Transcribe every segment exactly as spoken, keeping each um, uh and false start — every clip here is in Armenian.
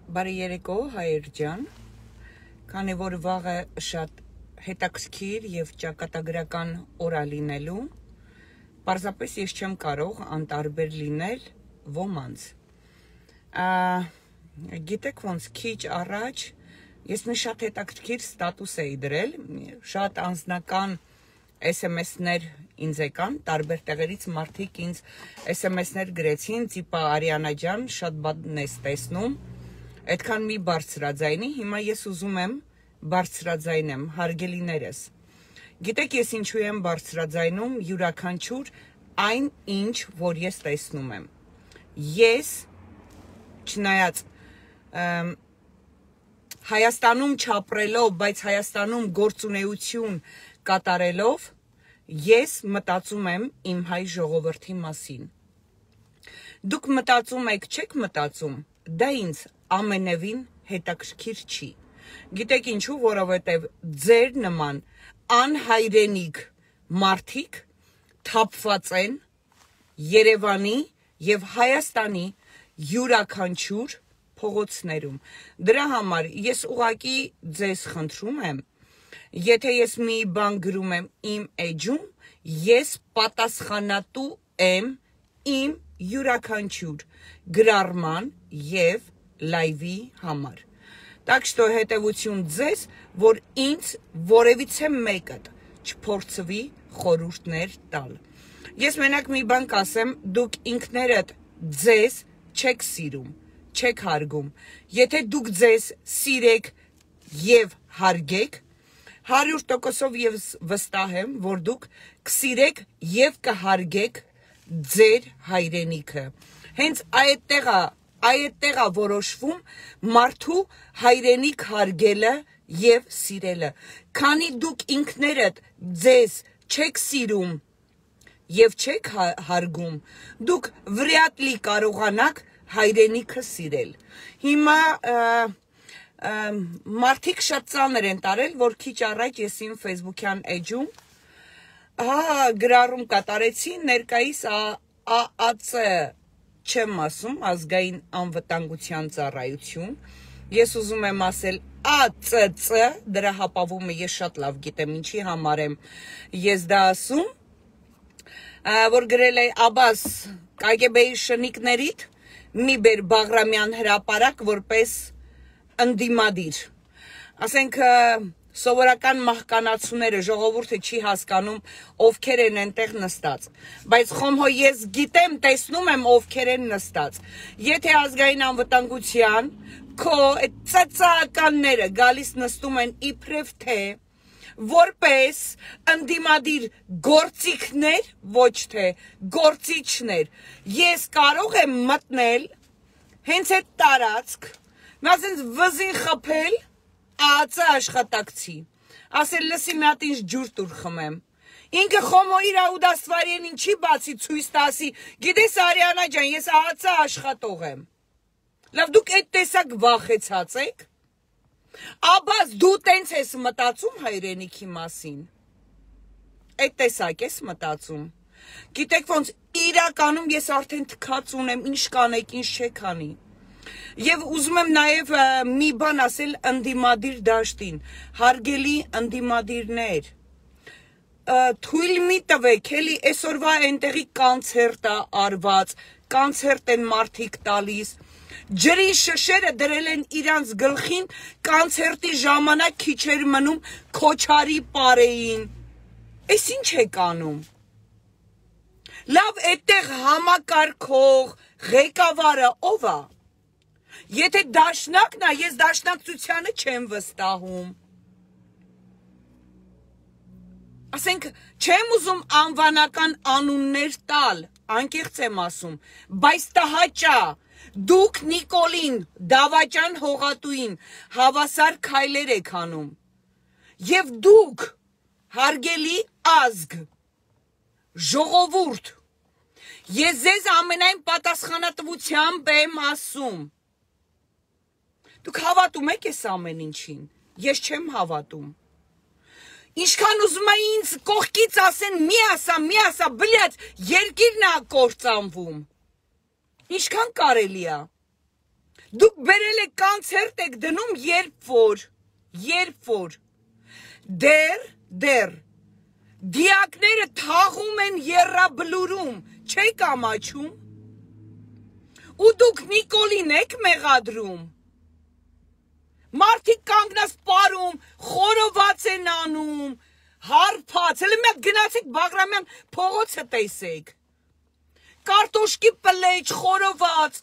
Բարի երեկո, հայեր ջան, քանի որ վաղը շատ հետաքրքիր եւ ճակատագրական օր է լինելու, պարզապես ես չեմ կարող անտարբեր լինել ոմանց։ Գիտեք ոնց քիչ առաջ ես մի շատ հետաքրքիր ստատուս էի դրել, շատ անձնական S M S-ներ ինձ եկան, տարբեր տեղերից մարդիկ ինձ S M S-ներ գրեցին, տիպա Արիանա ջան, շատ բան ես տեսնում, այդքան մի բարձրաձայնի, հիմա ես ուզում եմ բարձրաձայնեմ, հարգելիներս։ Գիտեք ես ինչու եմ բարձրաձայնում յուրաքանչյուր այն ինչ, որ ես տեսնում եմ։ Ես, չնայած Հայաստանում չապրելով, բայց Հայաստանում գործունեություն կատարելով, ես մտածում եմ իմ հայ ժողովրդի մասին։ Դուք մտածում եք, չեք մտածում, դա ինձ ամենևին հետաքրքիր չի։ Գիտեք ինչու, որովհետև ձեր նման անհայրենիք մարդիկ թափված են Երևանի և Հայաստանի յուրաքանչյուր փողոցներում։ Դրա համար ես ուղղակի ձեզ խնդրում եմ, եթե ես մի բան գրում եմ իմ էջում, ես պատասխանատու եմ իմ յուրաքանչյուր գրառման և լայվի համար։ Так что հետևություն ձեզ, որ ինձ որևիցե մեկը չփորձվի խորհուրդներ տալ։ Ես մենակ մի բան կասեմ, դուք ինքներդ ձեզ չեք սիրում, չեք հարգում։ Եթե դուք ձեզ սիրեք և հարգեք, հարյուր տոկոսով ես վստահ եմ, որ դուք կսիրեք և կհարգեք ձեր հայրենիքը։ Հենց այդտեղ է, այդտեղ է որոշվում մարդու հայրենիք հարգելը և սիրելը։ Քանի դուք ինքներդ ձեզ չեք սիրում և չեք հարգում, դուք վրյատ լի կարողանաք հայրենիքը սիրել։ Հիմա մարդիկ շատ ծանր են տարել, որ քիչ առաջ ես իմ Facebook-յան էջում գրառում կատարեցի, ներկայիս A A C չեմ ասում, ազգային անվտանգության ծառայություն, ես ուզում եմ ասել A C C, դրա հապավումը ես շատ լավ գիտեմ, ինչի համար եմ ես դա ասում, որ գրել է Աբաս K G B-ի շնիկներիդ մի բեր Բաղրամյան հրապարակ որպես ընդդիմադիր։ Ասենք սովորական մահկանացուները ժողովուրդը չի հասկանում ովքեր են այնտեղ նստած, բայց խոմհո ես գիտեմ, տեսնում եմ ովքեր են նստած։ Եթե ազգային անվտանգության քո այդ ծծականները գալիս նստում են իբրև թե որպես ընդդիմադիր գործիքներ, ոչ թե գործիչներ, ես կարող եմ մտնել հենց այդ տարածք, մասենց վզին խփել A A C աշխատակցի, ասել լսի մի հատ ինձ ջուր տուր խմեմ։ Ինքը խոմո իր աուդաստվարին ինչի բացի ցույց տասի, գիտես Արիանա ջան, ես A A C աշխատող եմ։ Լավ, դուք այդ տեսակ վախեցած եք։ Աբաս դու տենց ես մտածում հայրենիքի մասին։ Այդ տեսակ ես մտածում։ Գիտեք ոնց իրականում ես արդեն թքած ունեմ, ինչ կանեք, ինչ չեք անի։ Եվ ուզում եմ նաև մի բան ասել ընդդիմադիր դաշտին, հարգելի ընդդիմադիրներ, թույլ մի տվեք, էլի այսօրվա այնտեղի կանցերտ է արված, կանցերտ են մարդիկ տալիս, ջրի շշերը դրել են իրանց գլխին, կանցերտի ժամանակ քիչ էր մնում քոչարի պարեին։ Էս ինչ եք անում։ Լավ, այդտեղ համակարգող, ղեկավարը ով է։ Եթե դաշնակն է, ես դաշնակցությանը չեմ վստահում։ Ասենք, չեմ ուզում անվանական անուններ տալ, անկեղծ եմ ասում, բայց տհաճա, դուք Նիկոլին, Դավաճան Հողատուին հավասար քայլեր եք անում։ Եվ դուք, հարգելի ազգ, ժողովուրդ, ես ձեզ ամենայն պատասխանատվությամբ եմ ասում։ Դուք հավատում եք ես ամեն ինչին, ես չեմ հավատում։ Ինչքան ուզում է ինձ կողքից ասեն մի ասա, մի ասա, բլյաց, երկիրն է կործանվում։ Ինչքան կարելի է։ Դուք բերել եք կոնցերտ եք դնում երբ որ, երբ որ, դեր, դեր, դիակները թաղում են եռաբլուրում, չեք ամաչում, ու դուք Նիկոլին եք մեղադրում, մարդիկ կանգնած պարում, խորոված են անում, հարբած, հələ մի հատ գնացեք Բաղրամյան փողոցը տեսեք, կարտոշկի պլեջ, խորոված,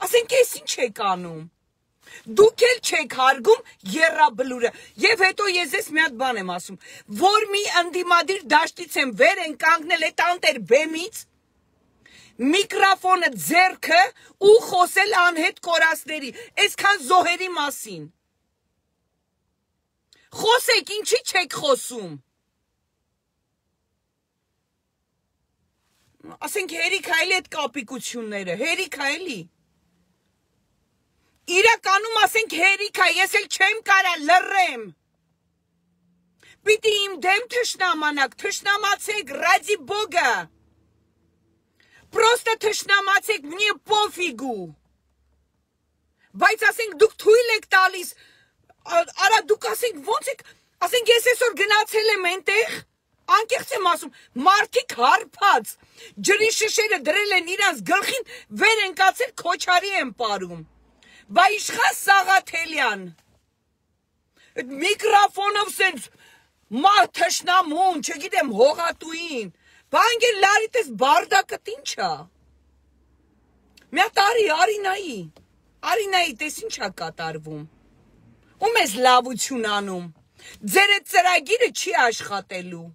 ասենք ես ինչ եք անում, դուք էլ չեք հարգում եռաբլուրը, և հետո ես ես մի հատ բան եմ ասում, որ մի ընդդիմադիր դաշտից եմ վեր են կանգնել էտ անտեր բեմից, միկրոֆոնը ձեռքը ու խոսել անհետ կորածների, այսքան զոհերի մասին, խոսեք, ինչի չեք խոսում, ասենք հերիք այլի էտ կապիկությունները, հերիք այլի, իրականում ասենք հերիք է, ես էլ չեմ կարա լռեմ, պիտի իմ դեմ թշնամանաք, թշնամացեք, ռադի բոգը, պրոստը թշնամացեք, մնի պոֆիգու, բայց ասենք դուք թույլ եք տալիս, արա դուք ասենք ոնց եք, ասենք ես այսօր գնացել եմ ենտեղ, անկեղծ եմ ասում, մարդիկ հարբած, ջրի շշերը դրել են իրանց գլխին, վեր են կացել քոչարի են պարում, բա իշխան Սաղաթելյան, միկրոֆոնով սենց մահ թշնամուն, չգիտեմ հողատուին, բա անգեր լարիտես բարդակըտ ինչա, մի հատ արի, արինայի, արինայի տես ինչա կատարվում, ու մեզ լավություն անում, ձեր էտ ծրագիրը չի աշխատելու,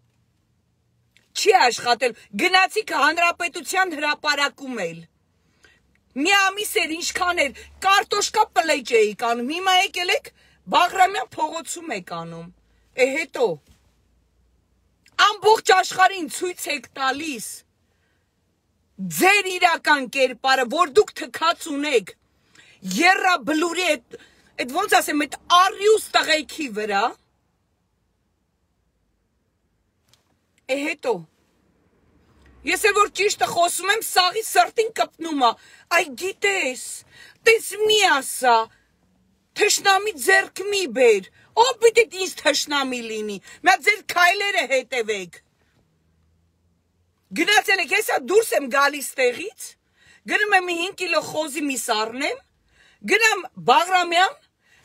չի աշխատելու, գնացիք հանրապետության հրապարակում էլ, մի ամիս էր ինչքան էր, կարտոշկա պլեջ էիք անում, հիմա եկել եք, Բաղրամյան փողոցում եք անում, է հետո, ամբողջ աշխարհին ցույց եք տալիս, ձեր իրական կերպարը, որ դուք թքած ունեք, եռաբլուրի էտ, էտ ոնց ասեմ, էտ առյուս տղեքի վրա, է հետո, ես էլ որ ճիշտը խոսում եմ, սաղի սրտին կպնում է, այ գիտես, տես մի ասա, թշնամի ձեռք մի բեր, ով պիտի ինձ թշնամի լինի, մյա ձեր քայլերը հետևեք, գնացել եք, հեսա դուրս եմ գալիս տեղից, գնում եմ մի հինգ կիլո խոզի միս առնեմ, գնամ Բաղրամյան,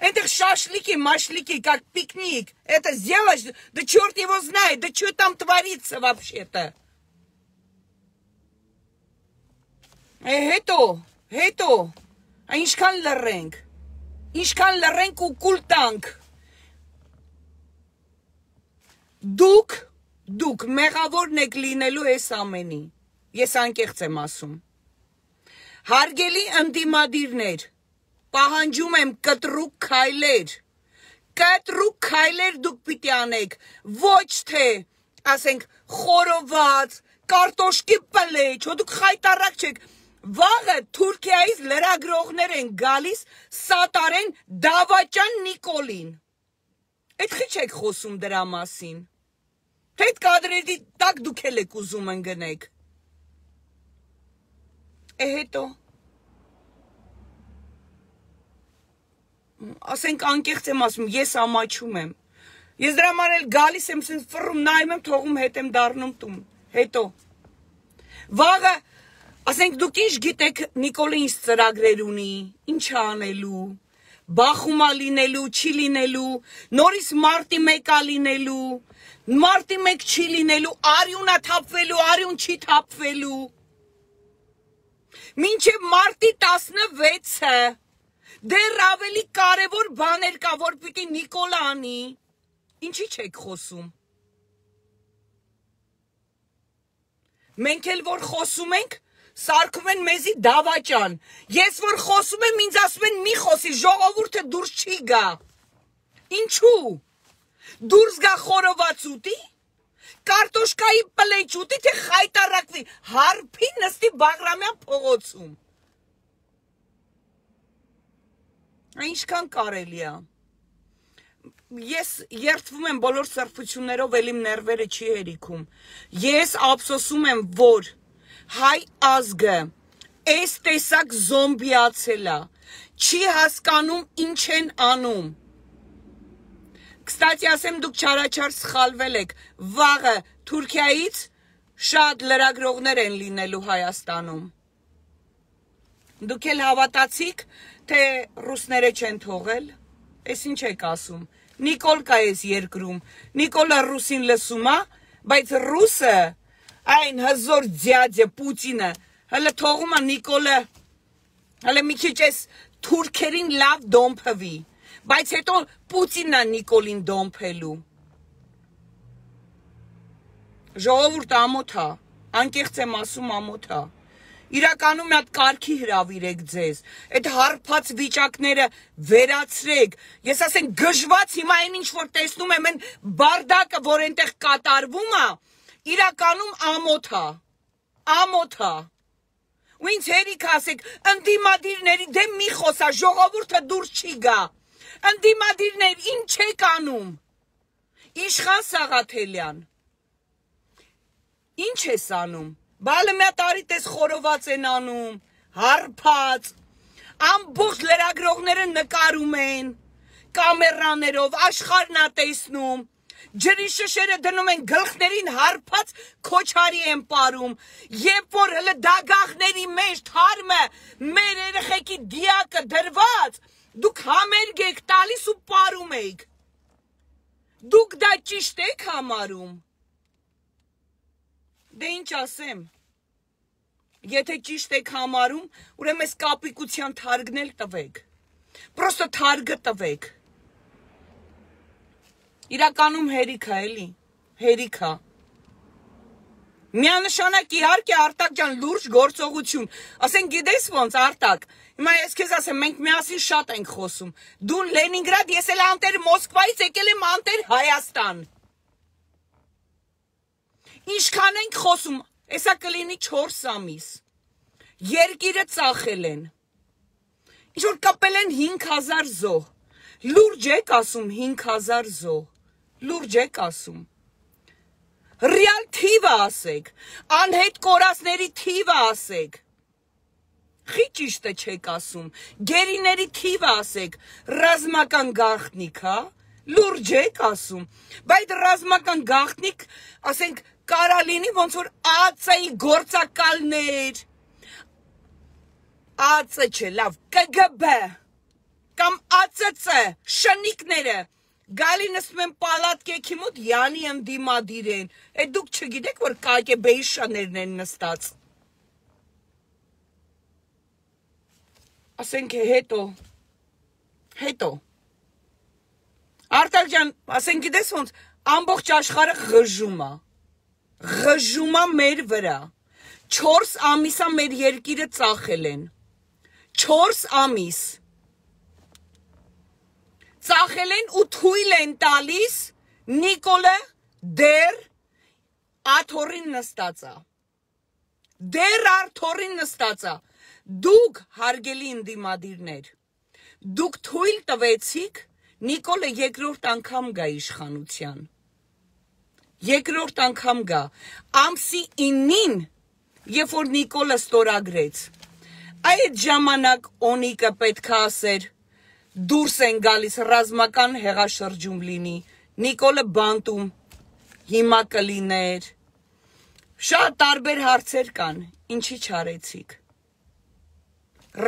այնտեղ շաշլիկի, մաշլիկի, как пикник, это сделаешь, да черт его знает, да что там творится вообще-то. Է հետո, հետո, ինչքան լռենք, ինչքան լռենք ու կուլ տանք, դուք, դուք մեղավորն եք լինելու ես ամենի, ես անկեղծ եմ ասում, հարգելի ընդդիմադիրներ, պահանջում եմ կտրուկ քայլեր, կտրուկ քայլեր դուք պիտի անեք, ոչ թե, ասենք, խորոված, կարտոշկի պլեջ, հո դուք խայտարակ չեք, վաղը Թուրքիայից լրագրողներ են գալիս սատարեն Դավաճան Նիկոլին, էդ խիչ եք խոսում դրա մասին, թե այդ կադրերի տակ դուք էլ եք ուզում ընգնեք, է հետո, ասենք անկեղծ եմ ասում, ես ամաչում եմ, ես դրա համար էլ գալիս եմ, սենց ֆռում նայում եմ, թողում հետ եմ դառնում տուն, հետո, վաղը, ասենք դուք ինչ գիտեք Նիկոլը ինչ ծրագրեր ունի, ինչ անելու, բախումա լինելու, չի լինելու, նորից մարտի մեկա լինելու, մարտի մեկ չի լինելու, արյունա թափվելու, արյուն չի թափվելու, մինչև մարտի տասնվեցը, դեր ավելի կարևոր բաներ կա, որ պիտի Նիկոլը անի, ինչի չեք խոսում, մենք էլ որ խոսում ենք, սարքում են մեզի Դավաճան, ես որ խոսում եմ, ինձ ասում են մի խոսի, ժողովուրդը դուրս չի գա, ինչու, դուրս գա խորոված ուտի, կարտոշկայի պլեջ ուտի, թե խայտարակվի, հարբի նստի Բաղրամյան փողոցում, ինչքան կարելի է, ես երդվում եմ բոլոր սրբություններով, էլ իմ ներվերը չի հերիքում, ես ափսոսում եմ, որ հայ ազգը այս տեսակ զոմբիացել է, Չի հասկանում ինչ են անում։ Կստացի ասեմ, դուք չարաչար սխալվել եք, վաղը Թուրքիայից շատ լրագրողներ են լինելու Հայաստանում։ Դուք էլ հավատացիք, թե ռուսները չեն թողել, ես ինչ եք ասում, Նիկոլ կա ես երկրում, Նիկոլը ռուսին լսում է, բայց ռուսը, այն հզոր ձյաձը Պուտինը, հələ թողում է Նիկոլը, հələ մի քիչ ես թուրքերին լավ դոմփվի, բայց հետո Պուտինն է Նիկոլին դոմփելու։ Ժողովուրդ ամոթ է, անկեղծ եմ ասում ամոթ է։ Իրականում մի հատ կարգի հրավիրեք ձեզ, այդ հարբած վիճակները վերացրեք, ես ասեմ գժված հիմա այն ինչ որ տեսնում եմ, այն բարդակը, որ այնտեղ կատարվում է, իրականում ամոթ է, ամոթ է։ Ու ինձ հերիք ասեք, ընդդիմադիրների դեմ մի խոսա, ժողովուրդը դուրս չի գա, ընդդիմադիրներ ինչ եք անում, Իշխան Սաղաթելյան, ինչ ես անում, բալը մի տարի տես խորոված են անում, հարբած, ամբողջ լրագրողները նկարում են, կամերաներով, աշխարհն է տեսնում, ջրի շշերը դնում են գլխներին հարբած քոչարի են պարում, երբ որ հələ դագաղների մեջ թարմը մեր երեխեքի դիակը դրված, դուք համերգ եք տալիս ու պարում եք, դուք դա ճիշտ եք համարում, դե ինչ ասեմ, եթե ճիշտ եք համարում, ուրեմն այս կապիկության թարգն էլ տվեք, պրոստը թարգը տվեք, իրականում հերիք է էլի, հերիք է, միանշանակ իհարկե Արտակ ջան լուրջ գործողություն, ասեն գիտես ոնց Արտակ, հիմա ես քեզ ասեմ, մենք միասին շատ ենք խոսում, դու Լենինգրադ, ես էլ անտեր Մոսկվայից եկել եմ անտեր Հայաստան, ինչքան ենք խոսում, Էսա կլինի չորս ամիս, երկիրը ծախել են, ինչ-որ կպել են հինգ հազար զոհ, լուրջ եք ասում հինգ հազար զոհ, լուրջ եք ասում, ռիալ թիվը ասեք, անհետ կորածների թիվը ասեք, խի ճիշտը չեք ասում, գերիների թիվը ասեք, ռազմական գաղտնիք, հա, լուրջ եք ասում, բայց ռազմական գաղտնիք, ասենք, կարա լինի ոնց որ ԱԾ-ի գործակալներ, ԱԾ չէ, լավ, ԿԳԲ կամ ԱԾՑ շնիկները գալի նստում են պալատկեքի մոտ յանի ընդդիմադիր են, այդ դուք չգիտեք, որ ԿԳԲ-ի շաներն են նստած։ Ասենք հետո, հետո, Արտակ ջան, ասենք գիտես ոնց, ամբողջ աշխարհը ղժում է, ղժում է մեր վրա, չորս ամիսա մեր երկիրը ծախել են, չորս ամիս, ծախել են ու թույլ են տալիս Նիկոլը դեր աթոռին նստածա, դեր աթոռին նստածա, դուք հարգելի ընդդիմադիրներ, դուք թույլ տվեցիք Նիկոլը երկրորդ անգամ գա իշխանության, երկրորդ անգամ գա, ամսի իննին, երբ որ Նիկոլը ստորագրեց, այդ ժամանակ Օնիկը պետք է ասեր, դուրս են գալիս ռազմական հեղաշրջում լինի, Նիկոլը բանտում, հիմա կլիներ, շատ տարբեր հարցեր կան, ինչի չարեցիք,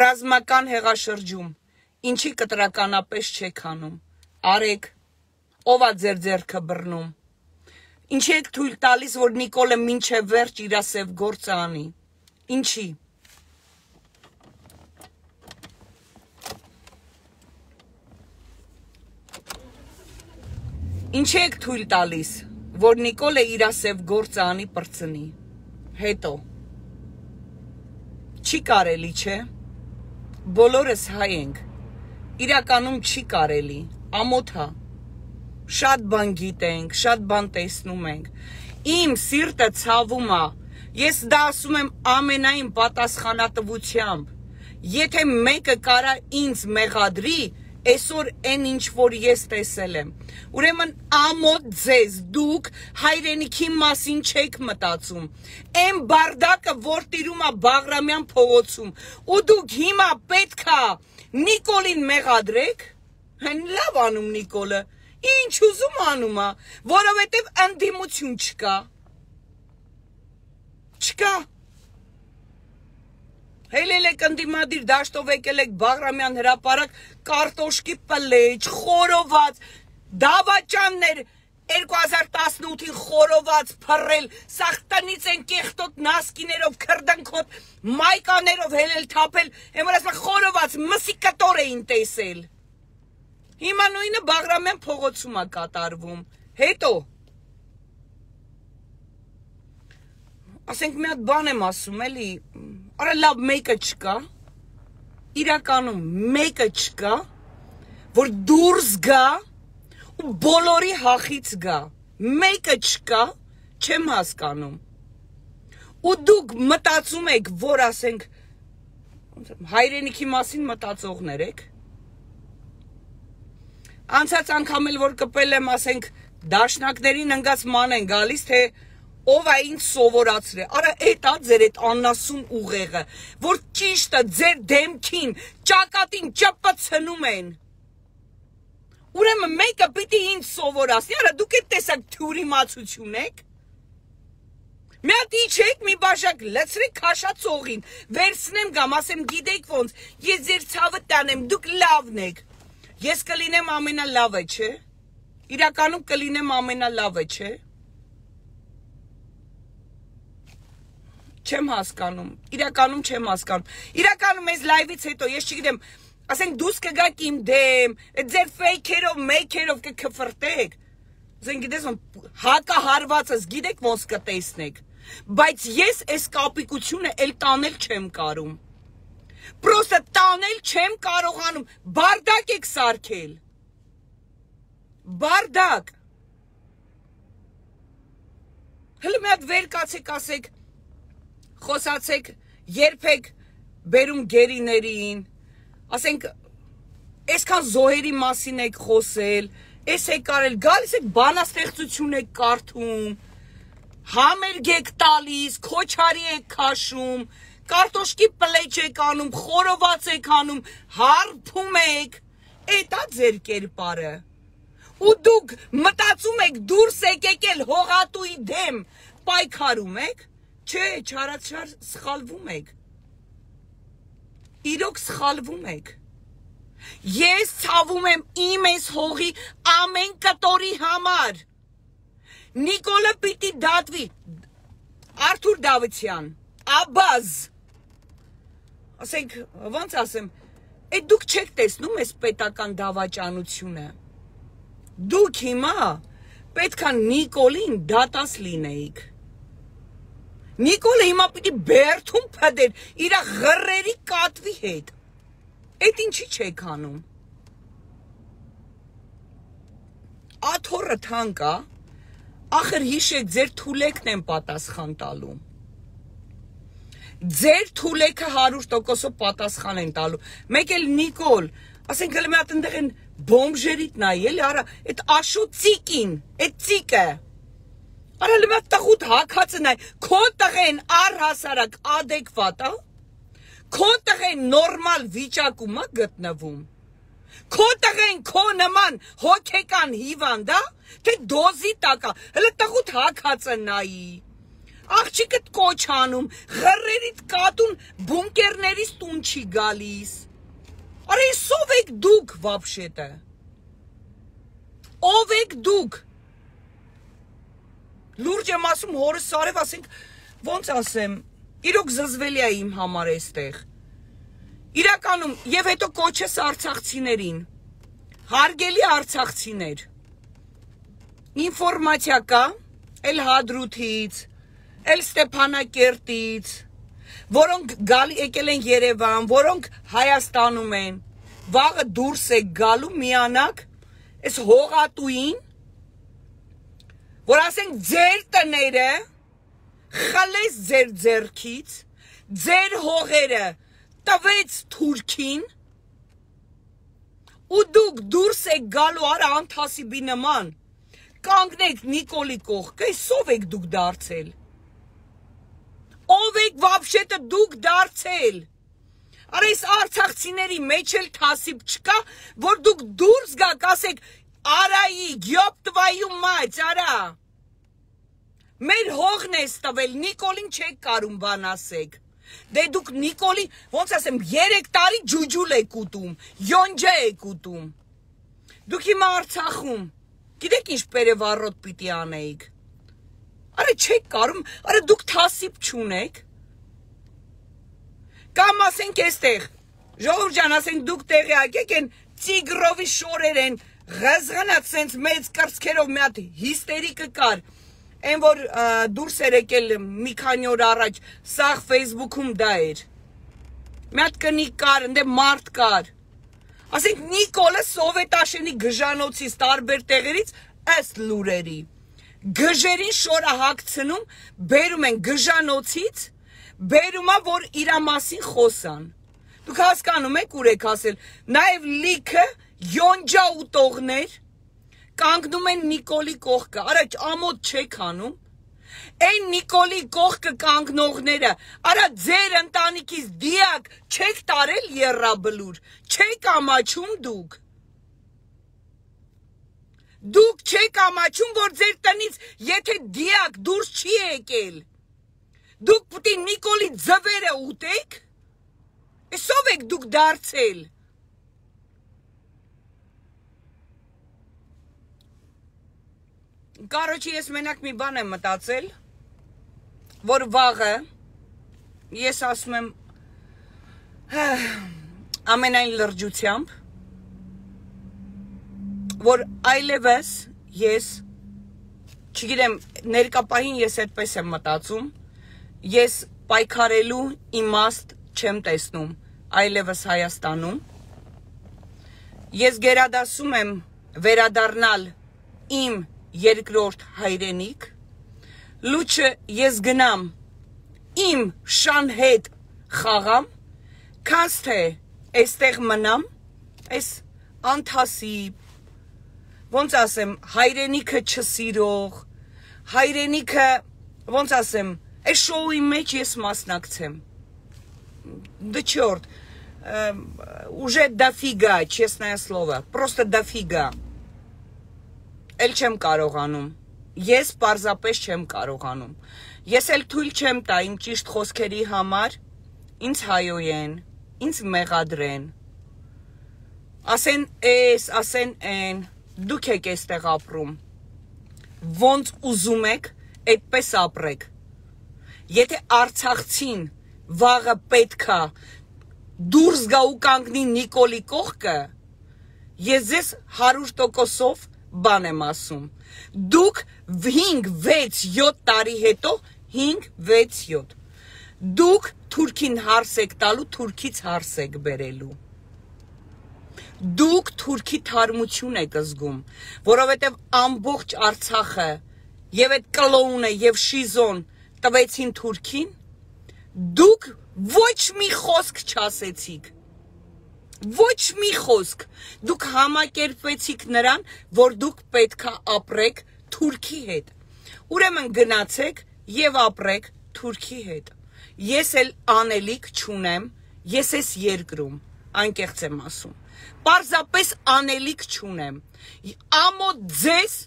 ռազմական հեղաշրջում, ինչի կտրականապես չեք անում, արեք, ով է ձեր ձեռքը բռնում, ինչի եք թույլ տալիս, որ Նիկոլը մինչև վերջ իր սև գործը անի, ինչի, ինչի եք թույլ տալիս, որ Նիկոլը իր սև գործը անի պրծնի, հետո, չի կարելի, չէ, բոլորս հայ ենք, իրականում չի կարելի, ամոթա, շատ բան գիտենք, շատ բան տեսնում ենք, իմ սիրտը ցավում է, ես դա ասում եմ ամենայն պատասխանատվությամբ, եթե մեկը կարա ինձ մեղադրի, Այսօր այն ինչ որ ես տեսել եմ, ուրեմն ամոթ ձեզ, դուք հայրենիքի մասին չեք մտածում, այն բարդակը, որ տիրում է Բաղրամյան փողոցում, ու դուք հիմա պետքա Նիկոլին մեղադրեք, լավ անում Նիկոլը, ինչ ուզում անում է, որովհետև ընդդիմություն չկա, չկա, Հելել եք ընդիմադիր դաշտով եկել եք Բաղրամյան հրապարակ, կարտոշկի պլեջ, խորոված, դավաճաններ երկու հազար տասնութին խորոված փռել, սաղ տնից են կեղտոտ նասկիներով, քրդնքոտ, մայկաներով հելել թափել, եմ որ ասում խորոված, մսի կտոր էին տեսել։ Հիմա նույնը Բաղրամյան փողոցում է կատարվում, հետո ասենք մի հատ բան եմ ասում, էլի, արա լավ մեկը չկա, իրականում մեկը չկա, որ դուրս գա ու բոլորի հախից գա, մեկը չկա, չեմ հասկանում, ու դուք մտածում եք, որ ասենք, հայրենիքի մասին մտածողներ եք, անցած անգամ էլ որ կպել եմ, ասենք, դաշնակներին ընգած ման են գալիս, թե ով է ինձ սովորացրե, արա էտ ա ձեր էտ աննասուն ուղեղը, որ ճիշտը ձեր դեմքին, ճակատին ճպցնում են, ուրեմն մեկը պիտի ինձ սովորացնի, արա դուք էտ տեսակ թյուրիմացություն եք, մի հատ իջեք, մի բաժակ լցրեք քաշածողին, վերցնեմ գամ, ասեմ գիտեք ոնց, ես ձեր ցավը տանեմ, դուք լավն եք, ես կլինեմ ամենալավը, չէ, իրականում կլինեմ ամենալավը, չէ, չեմ հասկանում, իրականում չեմ հասկանում, իրականում ես լայվից հետո, ես չգիտեմ, ասենք դուս կգաք իմ դեմ, ձեր ֆեյքերով, մեյքերով կքվրտեք, ասենք գիտես, հակահարվածս գիտեք ոնց կտեսնեք, բայց ես այս կապիկությունը էլ տանել չեմ կարում, պրոստը տանել չեմ կարողանում, բարդակ եք սարքել, բարդակ, հլը մի հատ վեր կացեք ասեք, խոսացեք, երբեք բերում գերիներին, ասենք, այսքան զոհերի մասին եք խոսել, այս եք կարել, գալիս եք բանաստեղծություն եք կարդում, համերգ եք տալիս, քոչարի եք քաշում, կարտոշկի պլեջ եք անում, խորոված եք անում, հարբում եք, էդ ա ձեր կերպարը, ու դուք մտածում եք դուրս եք եկել հողատուի դեմ, պայքարում եք, Չէ, չարացար սխալվում եք, իրոք սխալվում եք, ես ցավում եմ իմ ես հողի ամեն կտորի համար, Նիկոլը պիտի դատվի, Արթուր Դավթյան, Աբազ, ասենք, ոնց ասեմ, էդ դուք չեք տեսնում ես պետական դավաճանությունը, դուք հիմա պետքա Նիկոլին դատաս լինեիք, Նիկոլը հիմա պիտի բերթում պդեր, իրա ғրերի կատվի հետ, էդ ինչի չեք անում, աթորը թանկա, ախր հիշեք ձեր թուլեկն են պատասխան տալու, ձեր թուլեկը հարյուր տոկոսով պատասխան են տալու, մեկ էլ Նիկոլ, ասենք հլը մի հատ ընդեղ են բոմժերիտ նայի, էլի արա, էդ աշու ծիկին, էդ ծիկը, Արա լմա տղուտ հակացը նայ, քո տղեն առհասարակ ադեկվատ է, քո տղեն նորմալ վիճակում է գտնվում, քո տղեն քո նման հոգեկան հիվանդ է, թե դոզի տակ է, հլը տղուտ հակացը նայի, աղջիկըտ կոչ անում, ղրերիտ կատուն բունկերներից տուն չի գալիս, արա ես ով եք դուք վապշետը, ով եք դուք, Լուրջ եմ ասում հորս սարև, ասենք, ոնց ասեմ, իրոք զզվելի է իմ համար էստեղ, իրականում, և հետո կոչես արցախցիներին, հարգելի արցախցիներ, ինվորմատիա կա, էլ Հադրութից, էլ Ստեփանակերտից, որոնք գալի եկել են Երևան, որոնք Հայաստանում են, վաղը դուրս եք գալու միանակ, այս հողատուին, որ ասենք ձեր տները խլեց ձեր ձեռքից, ձեր հողերը տվեց Թուրքին ու դուք դուրս եք գալու արա անթասիբի նման, կանգնեք Նիկոլի կողքը, ով եք դուք դարձել, ով եք վաբշետը դուք դարձել, արա այս արցախցիների մեջ էլ թասիբ չկա, որ դուք դուրս գաք, ասեք, արայի, գյոբ տվայու մայց, արա, մեր հողն ես տվել, Նիկոլին չեք կարում բան ասեք, դե դուք Նիկոլի, ոնց ասեմ, երեք տարի ջուջուլ եք ուտում, յոնջա եք ուտում, դուք հիմա Արցախում, գիտեք ինչ պերևառոտ պիտի անեիք, արա չեք կարում, արա դուք թասիբ չունեք, կամ ասենք էստեղ, ժողովուրդ ջան, ասենք դուք տեղյակ եք են Տիգրովի շորեր են, ղզղնած սենց մեծ կրծքերով մի հատ հիստերիկը կար, այն որ դուրս էր եկել մի քանի օր առաջ, սաղ Facebook-ում դա էր, մի հատ կնիկ կար, ընդ մարդ կար, ասենք Նիկոլը Սովետաշենի գժանոցից տարբեր տեղերից ըստ լուրերի, գժերին շորը հագցնում, բերում են գժանոցից, բերում է, որ իրա մասին խոսան, դուք հասկանում եք ուր եք ասել, նաև լիքը յոնջա ուտողներ, կանգնում են Նիկոլի կողքը, արա ամոթ չեք անում, այն Նիկոլի կողքը կանգնողները, արա ձեր ընտանիքից դիակ չեք տարել եռաբլուր, չեք ամաչում դուք, դուք չեք ամաչում, որ ձեր տնից եթե դիակ դուրս չի եկել, դուք պուտի Նիկոլի ձվերը ուտեք, եսով եք դուք դարձել, Կարոչի ես մենակ մի բան եմ մտածել, որ վաղը, ես ասում եմ, ամենայն լրջությամբ, որ այլևս ես, չգիտեմ, ներկապահին ես այդպես եմ մտածում, ես պայքարելու իմաստ չեմ տեսնում այլևս Հայաստանում, ես գերադասում եմ վերադառնալ իմ երկրորդ հայրենիք, լուչը ես գնամ իմ շան հետ խաղամ, քանց թե այստեղ մնամ, այս անթասիբ, ոնց ասեմ, հայրենիքը չսիրող, հայրենիքը, ոնց ասեմ, այս շոուի մեջ ես մասնակցեմ, да черт, уже дофига, честное слово, просто дофига. Էլ չեմ կարողանում, ես պարզապես չեմ կարողանում, ես էլ թույլ չեմ տա իմ ճիշտ խոսքերի համար, ինձ հայոյեն, ինձ մեղադրեն, ասեն էս, ասեն են, դուք եք էստեղ ապրում, ոնց ուզում եք, այդպես ապրեք, եթե Արցախցին վաղը պետքա դուրս գա ու կանգնի Նիկոլի կողքը, ես ձեզ հարյուր տոկոսով բան եմ ասում, դուք հինգ, վեց, յոթ տարի հետո, հինգ, վեց, յոթ, դուք թուրքին հարս եք տալու, թուրքից հարս եք բերելու, դուք թուրքի թարմություն եք զգում, որովհետև ամբողջ Արցախը և այդ կլոունը և շիզոն տվեցին թուրքին, դուք ոչ մի խոսք չասեցիք, ոչ մի խոսք, դուք համակերպվեցիք նրան, որ դուք պետքա ապրեք թուրքի հետ, ուրեմն գնացեք և ապրեք թուրքի հետ, ես էլ անելիք չունեմ, ես ես երկրում, անկեղծ եմ ասում, պարզապես անելիք չունեմ, ամոթ ձեզ,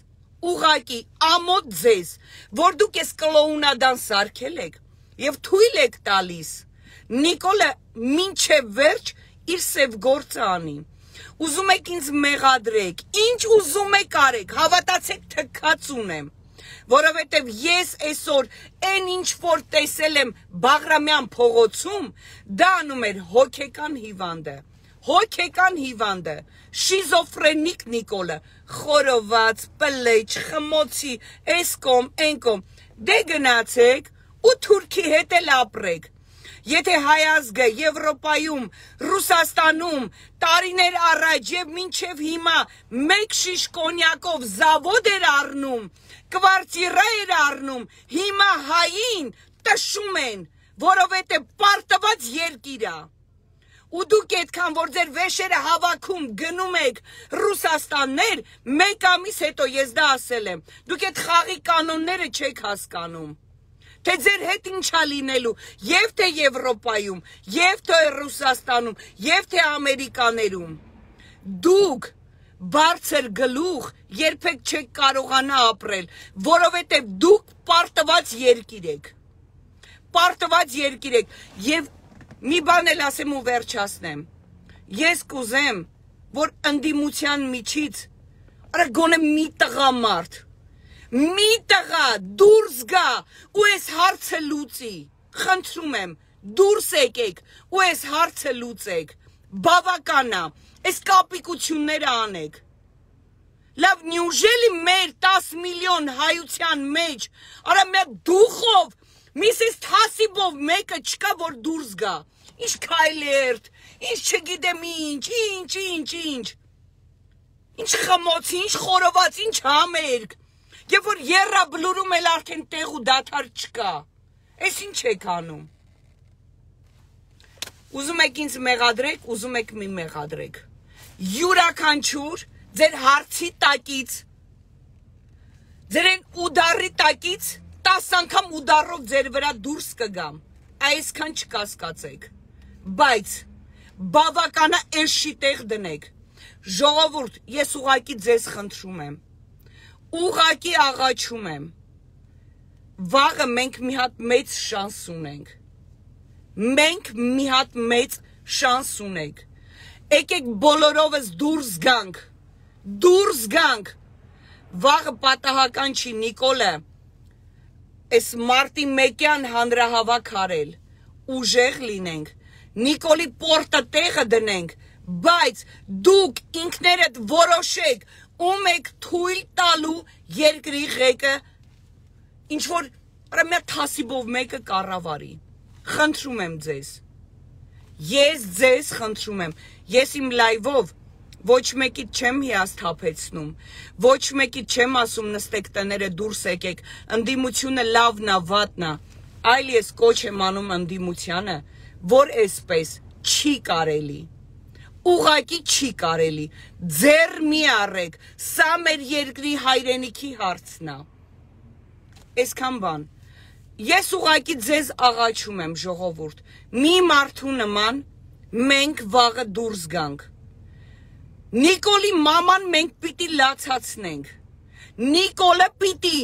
ուղակի ամոթ ձեզ, որ դուք ես կլոունադան սարքել եք, և թույլ եք տալիս, Նիկոլը մինչև վերջ իր սև գործը անի, ուզում եք ինձ մեղադրեք, ինչ ուզում եք արեք, հավատացեք թքած ունեմ, որովհետև ես այսօր այն ինչ որ տեսել եմ Բաղրամյան փողոցում, դա անում էր հոգեկան հիվանդը, հոգեկան հիվանդը, շիզոֆրենիկ Նիկոլը, խորոված, պլեջ, խմոցի, էսկոմ, էնկոմ, դե գնացեք ու թուրքի հետ էլ ապրեք, Եթե հայ ազգը Եվրոպայում, Ռուսաստանում, տարիներ առաջ և մինչև հիմա մեկ շիշ կոնյակով զավոդ էր առնում, կվարտիրա էր առնում, հիմա հային տշում են, որովհետև պարտված երկիր է։ ու դուք այդքան որ ձեր վեշերը հավաքում գնում եք Ռուսաստաններ, մեկ ամիս հետո ես դա ասել եմ, դուք այդ խաղի կանոնները չեք հասկանում, թե ձեր հետ ինչա լինելու, եւ թե Եվրոպայում, եւ թե Ռուսաստանում, եւ թե Ամերիկաներում, դուք բարձր գլուխ երբեք չեք կարողանա ապրել, որովհետեւ դուք պարտված երկիր եք, պարտված երկիր եք, եւ մի բան էլ ասեմ ու վերջացնեմ, ես կուզեմ, որ ընդդիմության միջից, արա գոնե մի տղամարդ, մի տղա դուրս գա ու այս հարցը լուծի, խնդրում եմ, դուրս եկեք ու այս հարցը լուծեք, բավականա, այս կապիկությունները անեք, լավ, նյուժելի մեր տաս միլիոն հայության մեջ, արա մի դուխով, Միսիս Թասիբով մեկը չկա, որ դուրս գա, ինչ քայլերտ, ինչ չգիտեմ ինչ, ինչ, ինչ, ինչ, ինչ խմոց, ինչ խորոված, ինչ համերգ, եւ որ եռաբլուրում էլ արդեն տեղ ու դադար չկա, այս ինչ եք անում, ուզում եք ինձ մեղադրեք, ուզում եք մի մեղադրեք, յուրաքանչյուր ձեր հարցի տակից, ձեր են ուդարի տակից, տաս անգամ ուդարով ձեր վրա դուրս կգամ, այսքան չկասկածեք, բայց բավականա էշի տեղ դնեք, ժողովուրդ, ես ուղակի ձեզ խնդրում եմ, ուղակի աղաչում եմ, վաղը մենք մի հատ մեծ շանս ունենք, մենք մի հատ մեծ շանս ունենք, եկեք բոլորովս դուրս գանք, դուրս գանք, վաղը պատահական չի Նիկոլը, Այս մարտի մեկյան հանրահավաք արել, ուժեղ լինենք, Նիկոլի պորտը տեղը դնենք, բայց դուք ինքներդ որոշեք, ում եք թույլ տալու երկրի ղեկը, ինչ որ մի Թասիբով մեկը կառավարի, խնդրում եմ ձեզ, ես ձեզ խնդրում եմ, ես իմ լայվով ոչ մեկից չեմ հիասթափեցնում, ոչ մեկից չեմ ասում նստեք տները դուրս եկեք, ընդդիմությունը լավն է, վատն է, այլ ես կոչ եմ անում ընդդիմությանը, որ այսպես չի կարելի, ուղղակի չի կարելի, ձեռ մի առեք, սա մեր երկրի հայրենիքի հարցն է, այսքան բան, ես ուղղակի ձեզ աղաչում եմ ժողովուրդ, մի մարդու նման մենք վաղը դուրս գանք, Նիկոլի մաման մենք պիտի լացացնենք, Նիկոլը պիտի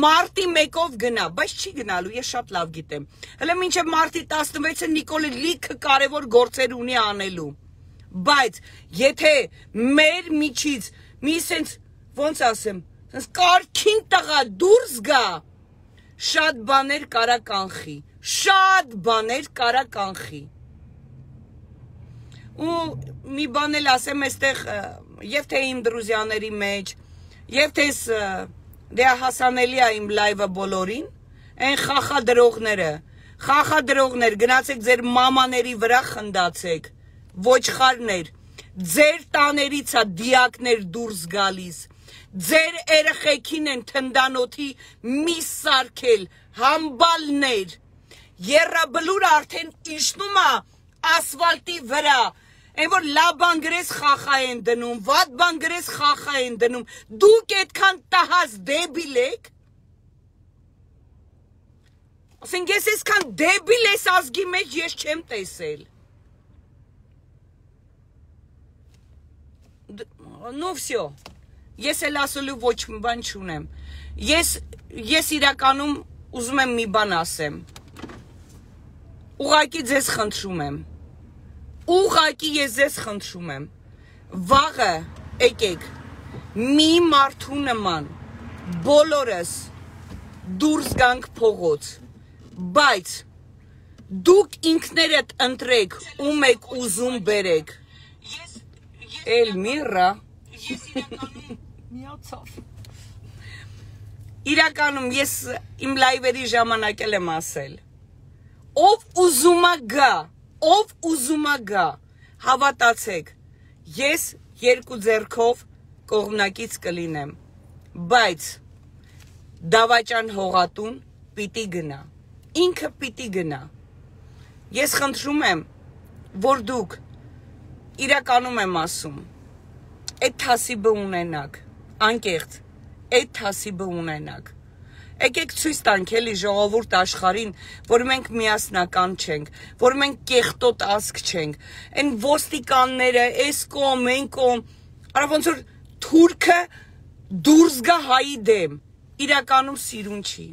մարտի մեկով գնա, բայց չի գնալու, ես շատ լավ գիտեմ, հələ մինչև մարտի տասնվեցը Նիկոլը լիքը կարևոր գործեր ունի անելու, բայց եթե մեր միջից մի սենց, ոնց ասեմ, սենց կարգին տղա դուրս գա, շատ բաներ կարա կանխի, շատ բաներ կարա կանխի, ու մի բան էլ ասեմ այստեղ եւ թե իմ դրուզյաների մեջ եւ թե դե հասանելի է իմ լայվը բոլորին այն խախադրողները խախադրողներ գնացեք ձեր մամաների վրա խնդացեք ոչխարներ ձեր տաներից է դիակներ դուրս գալիս ձեր երեխեքին են թնդանոթի միս սարքել համբալներ եռաբլուր արդեն իջնում է ասֆալտի վրա Այն որ լավ բան գրես խախա են դնում, վատ բան գրես խախա են դնում, դուք այդքան տահած դեբիլ եք, ասենք ես այսքան դեբիլ ես ազգի մեջ ես չեմ տեսել, նու վսյո, ես էլ ասելու ոչ մի բան չունեմ, ես, ես իրականում ուզում եմ մի բան ասեմ, ուղղակի ձեզ խնդրում եմ, Ուղղակի ես ձեզ խնդրում եմ, վաղը եկեք, մի մարդու նման, բոլորս դուրս գանք փողոց, բայց դուք ինքներդ ընտրեք, ում եք ուզում բերեք, Էլմիրա, իրականում ես իմ լայվերի ժամանակ էլ եմ ասել, ով ուզում է գա, Ով ուզումա գա, հավատացեք, ես երկու ձեռքով կողմնակից կլինեմ, բայց դավաճան հողատուն պիտի գնա, ինքը պիտի գնա, ես խնդրում եմ, որ դուք իրականում եմ ասում, այդ թասիբը ունենաք, անկեղծ, այդ թասիբը ունենաք։ Եկեք ցույց տանք էլի ժողովուրդ աշխարհին, որ մենք միասնական չենք, որ մենք կեղտոտ ազգ չենք։ Այն ոստիկանները, այս կողմ, այն կողմ, արա ոնց որ թուրքը դուրս գա հայի դեմ, իրականում սիրուն չի։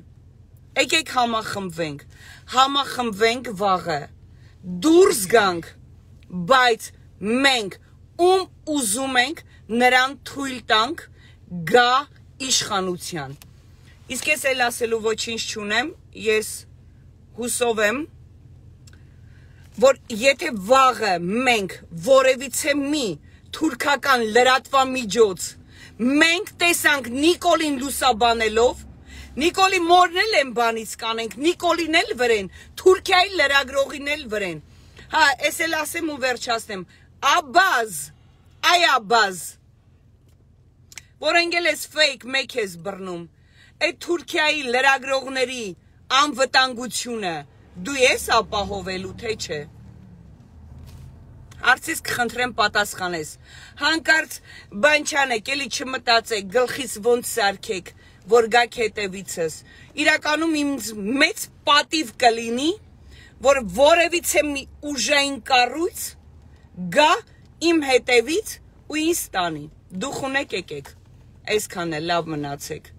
Եկեք համախմբվենք, համախմբվենք վաղը, դուրս գանք, բայց մենք ում ուզում ենք նրան թույլ տանք գա իշխանության։ Իսկ ես էլ ասելու ոչինչ չունեմ, ես հուսով եմ, որ եթե վաղը մենք որևիցե մի թուրքական լրատվամիջոց մենք տեսանք Նիկոլին լուսաբանելով, Նիկոլի մորն էլ են բանից կանենք, Նիկոլին էլ վրեն, Թուրքիայի լրագրողին էլ վրեն։ Հա, ես էլ ասեմ ու վերջացնեմ, Աբազ, այ Աբազ, որ ընկել ես ֆեյք մեկ ես բռնում, այդ Թուրքիայի լրագրողների անվտանգությունը դու ես ապահովելու, թե չէ։ Հարցից կխնդրեմ պատասխանես, հանկարծ բան չանեք, էլի չմտածեք, գլխից ոնց սարքեք, որ գաք հետևիցս։ Իրականում ինձ մեծ պատիվ կլինի, որ որևիցե մի ուժային կառույց գա իմ հետևից ու ինձ տանի։ Դուք ունեք եկեք, այսքան է, լավ մնացեք։